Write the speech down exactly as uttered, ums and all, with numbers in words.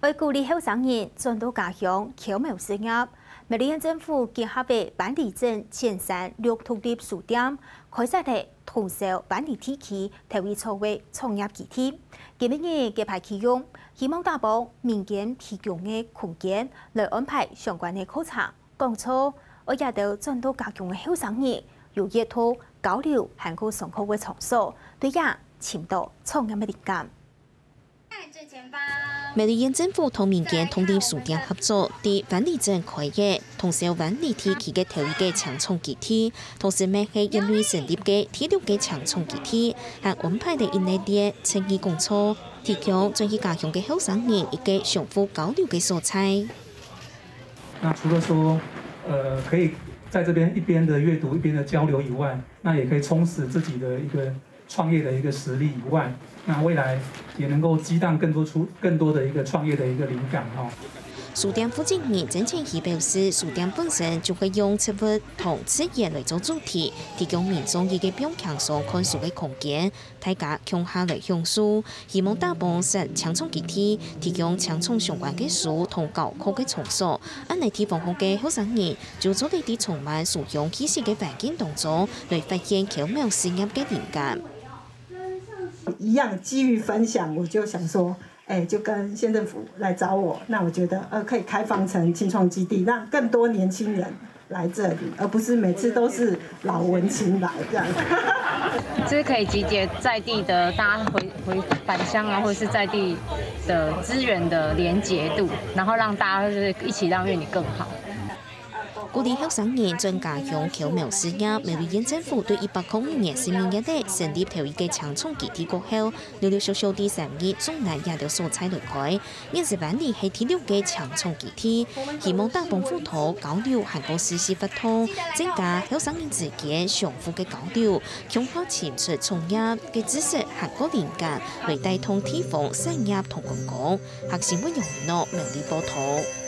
愛鼓勵後生人轉到家鄉巧苗事業，苗栗縣政府結合个灣梨鎮尖山綠獨立書店，開設了通霄灣梨地區頭一座个創業基地。今晡日揭牌啟用，希望打幫民間提供个空間，來安排相關个課程、講座，愛這兜轉到家鄉个後生人有閱讀、交流還過上課个場所，對這尋到創業个靈感。 苗栗縣政府同民間獨立書店合作，在灣梨鎮開業，通霄灣梨地區个頭一個青創基地，同時乜係縣內成立个第六個青創基地，還安排了一系列創意講座，提供轉去家鄉个後生人一個相互交流个所在。那除了說，呃，可以在這邊一邊的閱讀一邊的交流以外，那也可以充實自己的一個創業的一個實力以外，那未來也能夠激盪更多出，更多的一個創業的一個靈感哦。書店負責人曾千禧表示，書店本身就會用植物同自然來做主題，提供民眾一個放輕鬆看書个空間，大家共下來享受。希望打幫設青創基地，提供青創相關个書同教學个場所，恁呢地方項个後生人 就做得在充滿書香氣息个環境當中，來發現巧苗事業个靈感。一樣基於分享，我就想說，哎，就跟縣政府來找我，那我覺得呃可以開放成青創基地，讓更多年輕人來這裡，而不是每次都是老文青來這樣。就是可以集結在地的大家回回返乡啊，或者是在地的資源的连结度，然后让大家就是一起让院里更好。 鼓勵後生人轉家鄉巧苗事業，苗栗縣政府對一百空五年十二月底成立頭一個青創基地過後，陸陸續續在三義、中壢這兜所在來開。現時灣梨係第六個青創基地，希望打幫輔導、交流還過實習活動，增加後生人之間相互个交流，共下尋出創業个知識還過靈感，來帶動地方產業同觀光。客新聞楊諾苗栗報導。